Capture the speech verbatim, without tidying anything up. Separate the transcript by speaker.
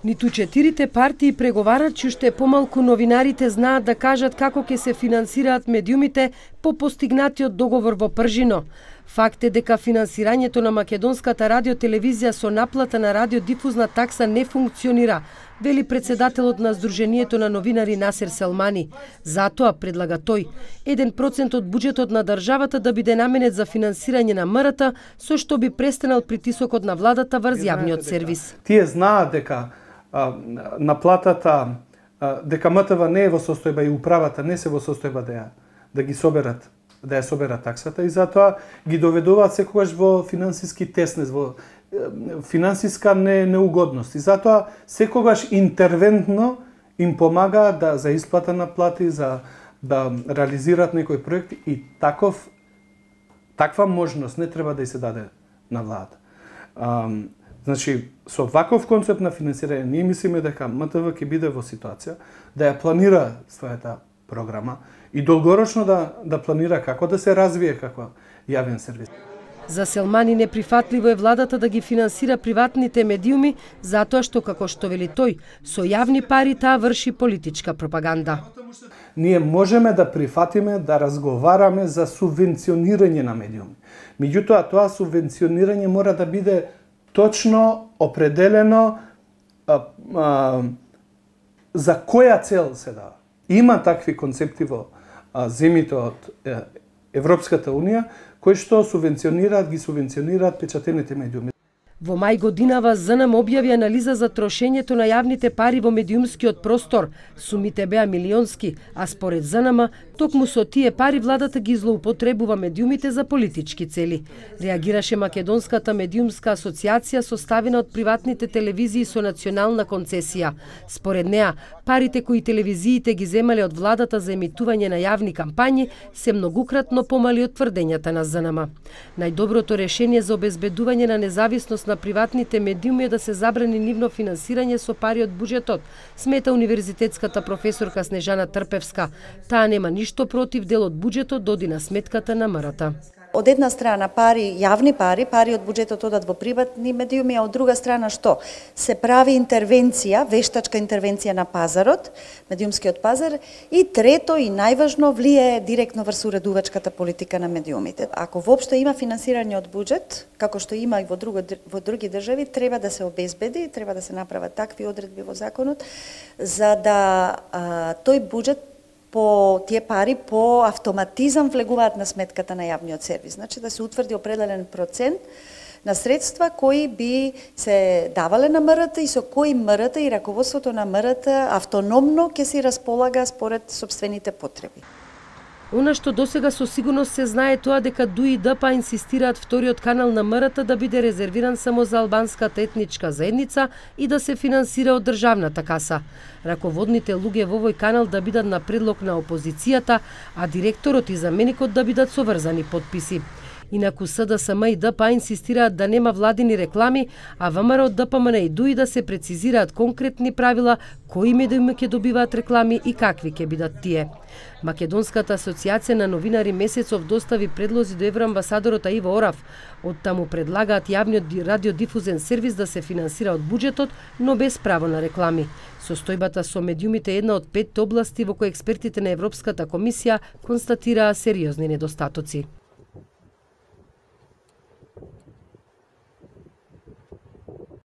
Speaker 1: Ниту четирите партии преговарат, уште помалку новинарите знаат да кажат како ќе се финансираат медиумите по постигнатиот договор во Пржино. Факт е дека финансирањето на македонската радиотелевизија со наплата на радиодифузна такса не функционира, вели председателот на Сдруженијето на новинари Насер Селмани. Затоа, предлага тој, еден процент од буџетот на државата да биде наменет за финансирање на МРТ, со што би престанал притисокот на владата врз јавниот сервис.
Speaker 2: Тие знаат дека а, наплатата, а, дека МТВ не е во состојба и управата не се во состојба да ја, да ги соберат, да ја соберат таксата и затоа ги доведуваат секогаш во финансиски теснес, во финансиска не, неугодност. И затоа секогаш интервентно им помага да за исплата на плати, за да реализираат некој проект и таков таква можност не треба да се даде на владата. А, значи, со ваков концепт на финансирање, ние мислиме дека МТВ ќе биде во ситуација да ја планира својата програма и долгорочно да, да планира како да се развие како јавен сервис.
Speaker 1: За Селмани неприфатливо е владата да ги финансира приватните медиуми, затоа што, како што вели тој, со јавни пари таа врши политичка пропаганда.
Speaker 2: Ние можеме да прифатиме да разговараме за субвенционирање на медиуми. Меѓутоа, тоа субвенционирање мора да биде точно определено а, а, за која цел се дава. Има такви концепти во а, земите од е, Европската Унија, кои што субвенционираат, ги субвенционираат печатените медиуми.
Speaker 1: Во мај годинава ЗНМ објави анализа за трошењето на јавните пари во медиумскиот простор. Сумите беа милионски, а според ЗНМ, токму со тие пари владата ги злоупотребува медиумите за политички цели. Реагираше Македонската медиумска асоциација составена од приватните телевизии со национална концесија. Според неа, парите кои телевизиите ги земале од владата за емитување на јавни кампањи се многукратно помали од тврдењата на ЗНМ. Најдоброто решение за обезбедување на независност на приватните медиуми е да се забрани нивно финансирање со пари од буџетот, смета универзитетската професорка Снежана Трпевска. Таа нема ништо против дел од буџетот да оди на сметката на МРТ.
Speaker 3: Од една страна пари, јавни пари, пари од буџетот одат во приватни медиуми, а од друга страна што? Се прави интервенција, вештачка интервенција на пазарот, медиумскиот пазар, и трето и најважно влијае директно врз уредувачката политика на медиумите. Ако воопшто има финансирање од буџет, како што има и во, друго, во други држави, треба да се обезбеди, треба да се направат такви одредби во законот, за да а, тој буџет по тие пари по автоматизам влегуваат на сметката на јавниот сервис. Значи да се утврди определен процент на средства кои би се давале на МРТ и со кои МРТ и раководството на МРТ автономно ќе си располага според сопствените потреби.
Speaker 1: Она што досега со сигурност се знае тоа дека ДУ и ДПА инсистираат вториот канал на МРТ да биде резервиран само за албанската етничка заедница и да се финансира од државната каса. Раководните луѓе во овој канал да бидат на предлог на опозицијата, а директорот и заменикот да бидат со врзани потписи. Инаку СДСМ и ДПА инсистираат да нема владини реклами, а ВМРО, ДПМН и ДУ И да се прецизираат конкретни правила кои медиуми ќе добиваат реклами и какви ќе бидат тие. Македонската асоциација на новинари месецов достави предлози до евроамбасадорот Иво Орав. Оттаму предлагаат јавниот радиодифузен сервис да се финансира од буџетот, но без право на реклами. Состојбата со медиумите е една од петте области во кои експертите на Европската комисија констатираа сериозни недостатоци.